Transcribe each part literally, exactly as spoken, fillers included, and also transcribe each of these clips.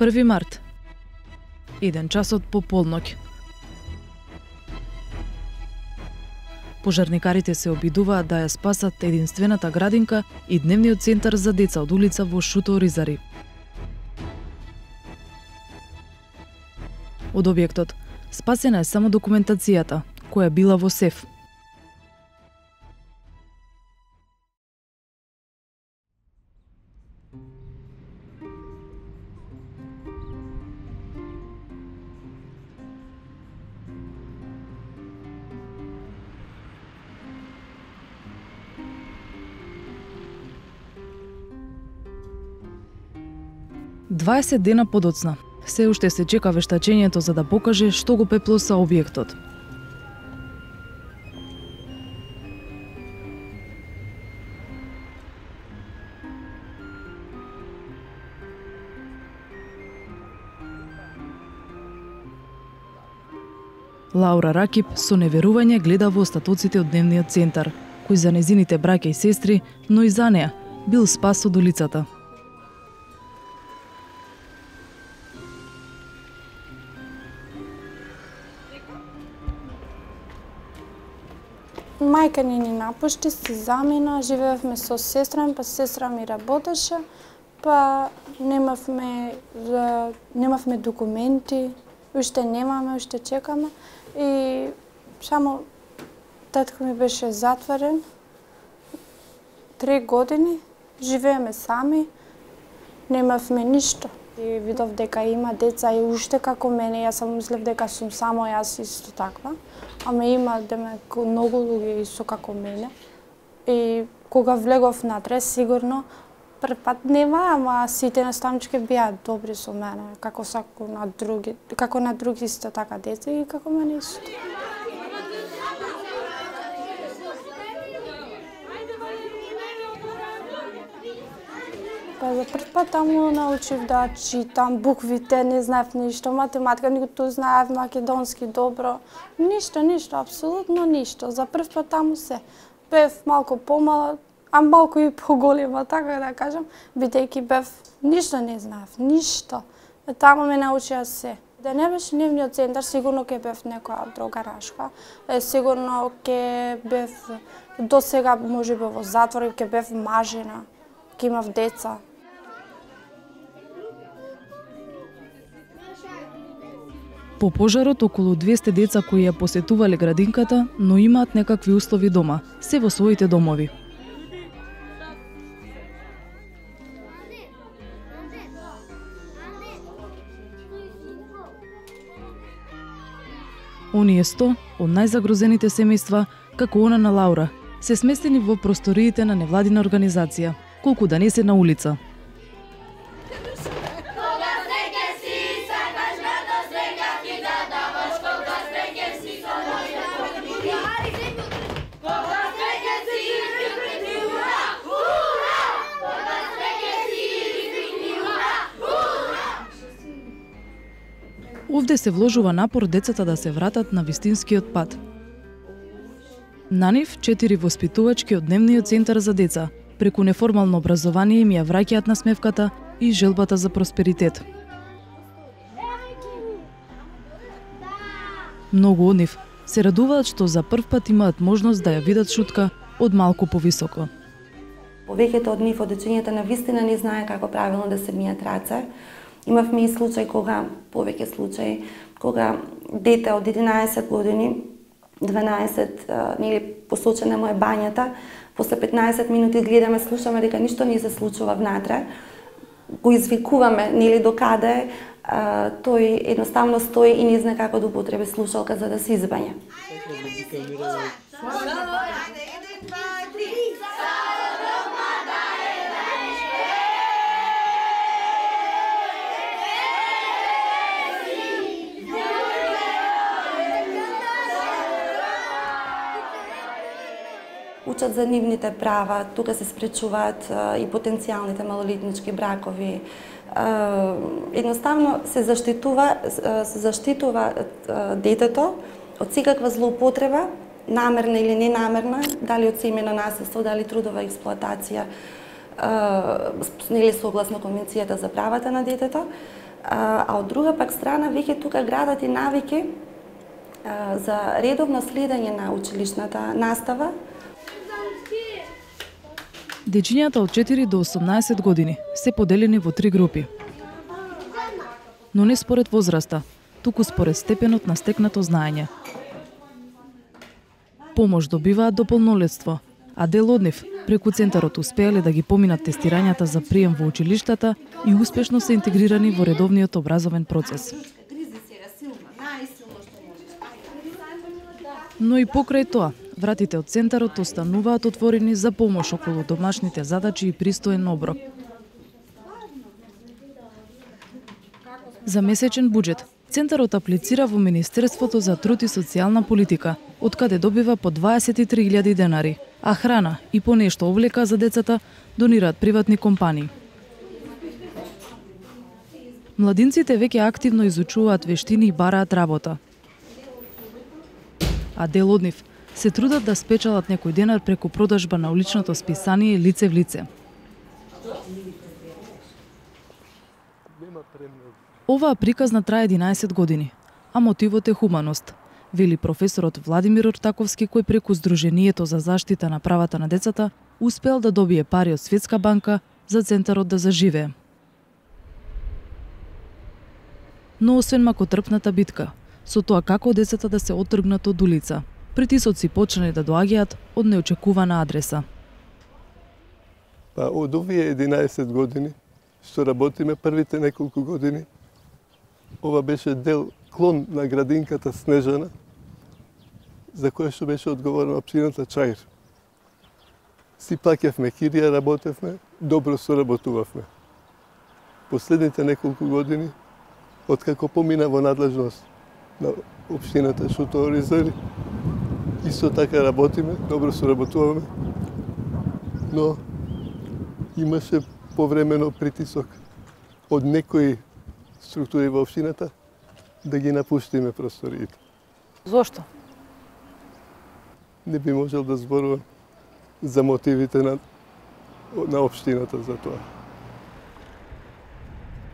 први март. Еден часот по полноќ. Пожарникарите се обидуваат да ја спасат единствената градинка и дневниот центар за деца од улица во Шуто Оризари. Од објектот спасена е само документацијата, која била во сеф. дваесет дена подоцна, се уште се чека вештачењето за да покаже што го пеплоса објектот. Лаура Ракип со неверување гледа во остатоците од дневниот центар, кој за незините браќа и сестри, но и за неа, бил спас од улицата. Мајка ни ни напушти, се замина, живеевме со сестра ми, па сестра ми работеше, па немавме, немавме документи, уште немаме, уште чекаме и само татко ми беше затворен три години, живееме сами, немавме ништо. И видов дека има деца и уште како мене, јас сам мислев дека сум само јас исто таква, ама има демек многу луѓе исто како мене. И кога влегов натре, сигурно прв пат нема, ама сите наставнички беа добри со мене, како сако на други, како на други исто така деца и како мене исто. Па за прв пат таму научив да читам буквите, не знаев ништо, математика, ниту знаев македонски добро, ништо, ништо, апсолутно ништо. За прв пат таму се бев малку помала, а малку и поголема, така да кажам, бидејќи бев, ништо не знаев, ништо. Таму ме научија се. Да не беше дневниот центар, сигурно ќе бев некоја друга рашка, сигурно ќе бев, до сега можеби во затвор, ќе бев мажена, ќе имав деца. По пожарот, околу двесте деца кои ја посетувале градинката, но имаат некакви услови дома, се во своите домови. Оние сто од најзагрозените семејства, како она на Лаура, се сместени во просториите на невладина организација, колку да не се на улица. Овде се вложува напор децата да се вратат на вистинскиот пат. На нив четири воспитувачки од дневниот центар за деца, преку неформално образование им ја враќаат насмевката и желбата за просперитет. Многу од нив се радуваат што за прв пат имаат можност да ја видат Шутка од малку повисоко. Повеќето од нив од дечињата на вистина не знае како правилно да се мијат раце. Имавме и случај кога, повеќе случаи, кога дете од единаесет години, дванаесет, нели посочена му е бањата, после петнаесет минути гледаме, слушаме дека ништо не се случува внатре, го извикуваме, нели докаде, тој едноставно стои и не знае како да употреби слушалка за да се избања. Учат за нивните права, тука се спречуваат и потенцијалните малолетнички бракови. Едноставно се заштитува, се заштитува детето од секаква злоупотреба, намерна или ненамерна, дали од семејно насилство, дали трудова експлоатација. нели согласно Конвенцијата за правата на детето, а од друга пак страна веќе тука градат и навики за редовно следење на училишната настава. Дечињата од четири до осумнаесет години се поделени во три групи. Но не според возраста, туку според степенот на стекнато знаење. Помош добиваат до полнолетство, а дел од нив преку центарот успеале да ги поминат тестирањата за прием во училиштата и успешно се интегрирани во редовниот образовен процес. Но и покрај тоа, вратите од центарот остануваат отворени за помош околу домашните задачи и пристоен оброк. За месечен буџет, центарот аплицира во Министерството за труд и социјална политика, од каде добива по дваесет и три илјади денари, а храна и по нешто облека за децата донираат приватни компании. Младинците веќе активно изучуваат вештини и бараат работа. А дел од нив се трудат да спечалат некој денар преку продажба на уличното списание лице в лице. Оваа приказна трае единаесет години, а мотивот е хуманост, вели професорот Владимир Ортаковски, кој преку Сдруженијето за заштита на правата на децата успел да добие пари од Светска банка за центарот да заживее. Но освен макотрпната битка, со тоа како децата да се оттргнат од улица, притисоци почнале да доаѓаат од неочекувана адреса. Па од овие единаесет години што работиме првите неколку години, ова беше дел клон на градинката Снежана, за која што беше одговорна општината Чаир. Си плаќавме кирија, работевме, добро соработувавме. Последните неколку години, откако помина во надлежност на општината Шуто Оризари, исто така работиме, добро соработуваме, но имаше повремено притисок од некои структури во општината да ги напуштиме просториите. Зошто? Не би можел да зборувам за мотивите на, на општината за тоа.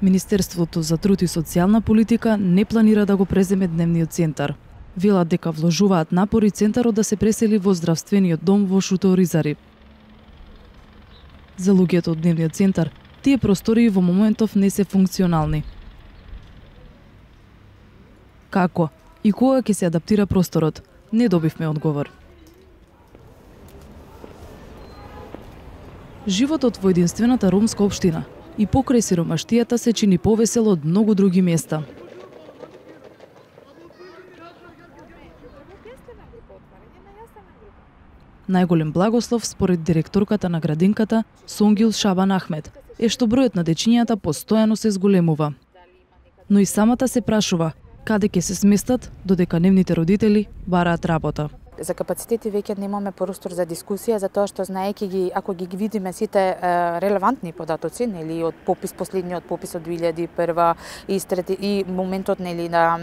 Министерството за труд и социјална политика не планира да го преземе дневниот центар. Велат дека вложуваат напори центарот да се пресели во здравствениот дом во Шуто Оризари. За луѓето од дневниот центар, тие простории во моментов не се функционални. Како и кога ќе се адаптира просторот, не добивме одговор. Животот во единствената ромска општина и покрај сиромаштијата се чини повесел од многу други места. Најголем благослов, според директорката на градинката Сонгил Шабан Ахмед, е што бројот на дечињата постојано се зголемува. Но и самата се прашува каде ќе се сместат додека нивните родители бараат работа. За капацитети веќе немаме простор за дискусија, затоа што знаејќи ги, ако ги видиме сите е, релевантни податоци, нели од попис последниот попис од две илјади и прва и, и моментот нели на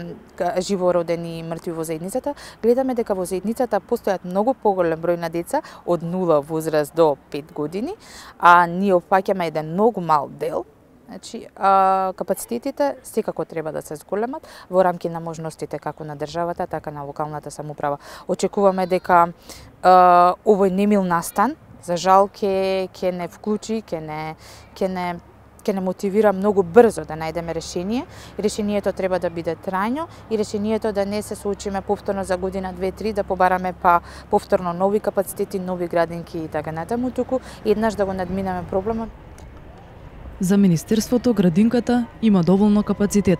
живородени мртви во заедницата, гледаме дека во заедницата постојат многу поголем број на деца од нула возраст до пет години, а ние опфаќаме еден многу мал дел. Значи, а, капацитетите секако треба да се зголемат во рамки на можностите како на државата, така на локалната самоуправа. Очекуваме дека а, овој немил настан, за жал, ќе ќе не вклучи, ќе не ќе не ќе не мотивира многу брзо да најдеме решение. И решението треба да биде трајно и решението да не се соочиме повторно за година, две, три, да побараме па повторно нови капацитети, нови градинки и така натаму, туку еднаш да го надминеме проблемот. За Министерството градинката има доволно капацитет.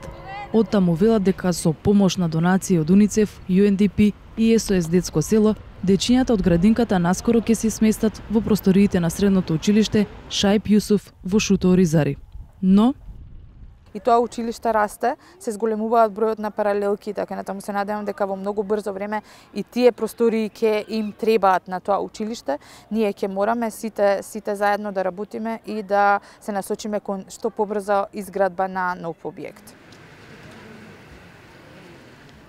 Оттаму велат дека со помош на донации од УНИЦЕФ, Ю Ен Ди Пи и Ес О Ес Детско село, дечињата од градинката наскоро ќе се сместат во просториите на средното училиште Шајп Јусуф во Шуто Оризари. Но и тоа училиште расте, се зголемуваат бројот на паралелки, така натаму се надевам дека во многу брзо време и тие простории ќе им требаат на тоа училиште. Ние ќе мораме сите сите заедно да работиме и да се насочиме кон што побрза изградба на нов објект.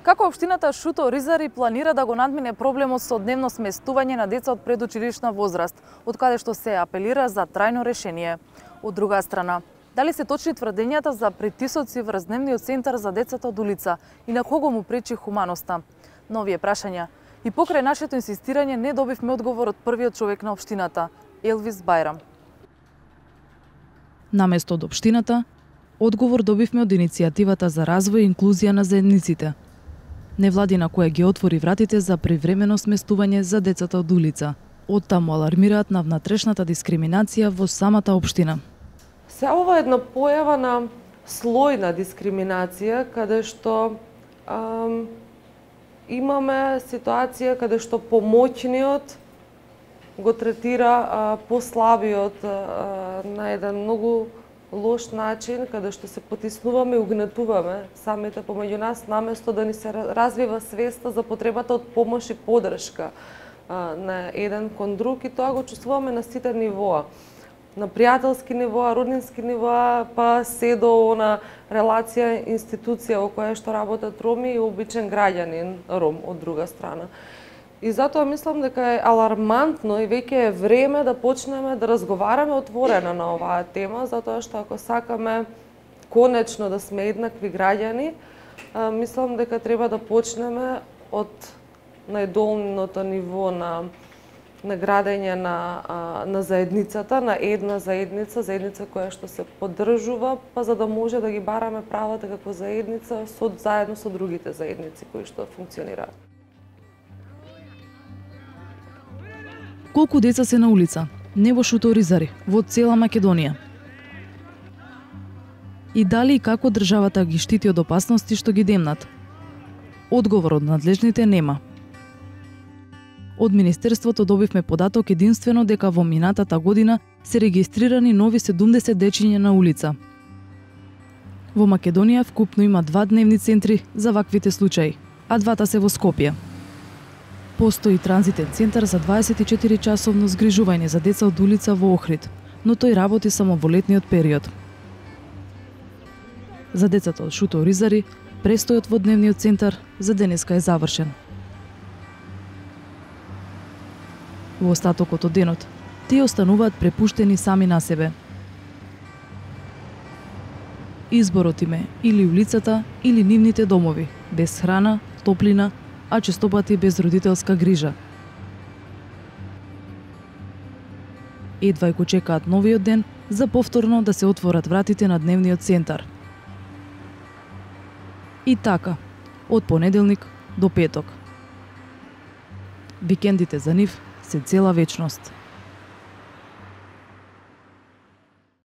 Како општината Шуто Оризари планира да го надмине проблемот со дневно сместување на деца од предучилишна возраст, од каде што се апелира за трајно решение? Од друга страна, дали се точни тврдењата за притисоци врз дневниот центар за децата од улица и на кого му пречи хуманоста? На овие прашања и покрај нашето инсистирање не добивме одговор од првиот човек на општината, Елвис Бајрам. Наместо од општината, одговор добивме од иницијативата за развој и инклузија на заедниците, невладина која ги отвори вратите за привремено сместување за децата од улица. Оттаму алармираат на внатрешната дискриминација во самата општина. Се ова е една појава на слојна дискриминација, каде што ам, имаме ситуација каде што помоќниот го третира а, послабиот а, на еден многу лош начин, каде што се потиснуваме и угнетуваме самите помеѓу нас, наместо да ни се развива свеста за потребата од помош и поддршка а, на еден кон друг, и тоа го чувствуваме на сите нивоа. На пријателски нивоа, роднински нивоа, па се до на релација институција во која што работат роми и обичен граѓанин ром од друга страна. И затоа мислам дека е алармантно и веќе е време да почнеме да разговараме отворено на оваа тема, затоа што ако сакаме конечно да сме еднакви граѓани, мислам дека треба да почнеме од најдолното ниво на на градење на, на заедницата, на една заедница, заедница која што се поддржува, па за да може да ги бараме правата како заедница со, заедно со другите заедници кои што функционираат. Колку деца се на улица? Не во Шуто Оризари, во цела Македонија. И дали и како државата ги штити од опасности што ги демнат? Одговор од надлежните нема. Од Министерството добивме податок единствено дека во минатата година се регистрирани нови седумдесет дечиња на улица. Во Македонија вкупно има два дневни центри за ваквите случаи, а двата се во Скопје. Постои транзитен центар за дваесет и четири часовно згрижување за деца од улица во Охрид, но тој работи само во летниот период. За децата од Шуто Оризари, престојот во дневниот центар за денеска е завршен. Во остатокот од денот, тие остануваат препуштени сами на себе. Изборот им е или улицата, или нивните домови, без храна, топлина, а честопати без родителска грижа. Едва го чекаат новиот ден за повторно да се отворат вратите на дневниот центар. И така, од понеделник до петок. Викендите за нив се цела вечност.